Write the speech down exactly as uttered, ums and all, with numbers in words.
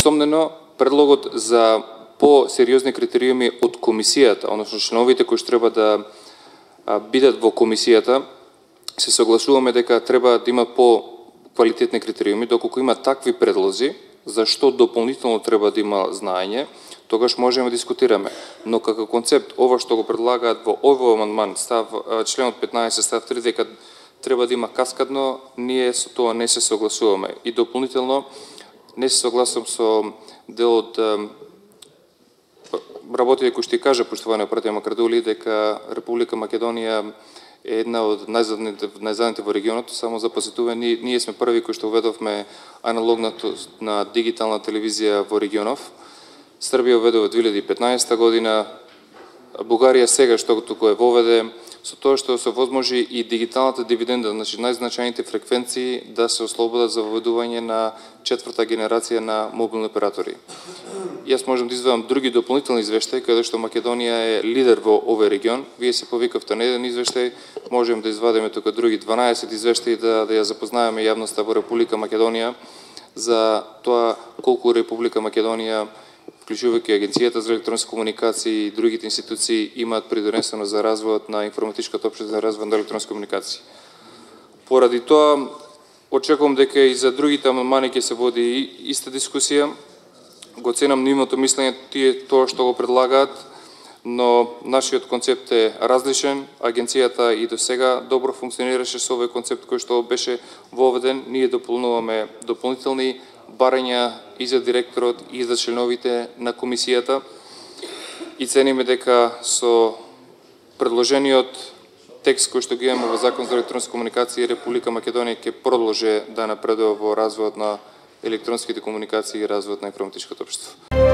Истомнено, предлогот за по-сериозни критериуми од комисијата, односно членовите кои што треба да бидат во комисијата, се согласуваме дека треба да има по-квалитетни критериуми, доколку има такви предлози, зашто дополнително треба да има знаење, тогаш можеме да дискутираме. Но како концепт, ова што го предлагаат во овој амандман, став членот петнаесет, став три, дека треба да има каскадно, ние со тоа не се согласуваме. И дополнително, не се согласувам со дел од работите кои што кажа поштовани оператор Макрадули, дека Република Македонија е една од најзадните, најзадните во регионот. Само за посетување, ние, ние сме први кои што уведовме аналогната на дигитална телевизија во регионов. Србија уведе во две илјади и петнаесета година, Бугарија сега што туку е воведе, со тоа што се возможи и дигиталната дивиденда, значи најзначајните фреквенции да се ослободат за воведување на четврта генерација на мобилни оператори. Јас можам да извадам други дополнителни извештаи, каде што Македонија е лидер во овој регион. Вие се повикавте на еден извештај, можем да извадиме тука други дванаесет извештаи да, да ја запознаеме јавноста во Република Македонија за тоа колку Република Македонија, вклучувајќи Агенцијата за електронски комуникации и другите институции, имаат придонесено за развојот на информатичката општина, за развој на електронски комуникации. Поради тоа, очекувам дека и за другите амандмани ќе се води иста дискусија. Го ценам нивното мислење, тие тоа што го предлагаат, но нашиот концепт е различен. Агенцијата и до сега добро функционираше со овој концепт кој што беше воведен. Ние дополнуваме дополнителни барања и за директорот и за членовите на комисијата и цениме дека со предложениот текст кој што ги имаме во Закон за електронски комуникации, Република Македонија ќе продолжи да напредува во развојот на електронските комуникации и развојот на информатичкото општество.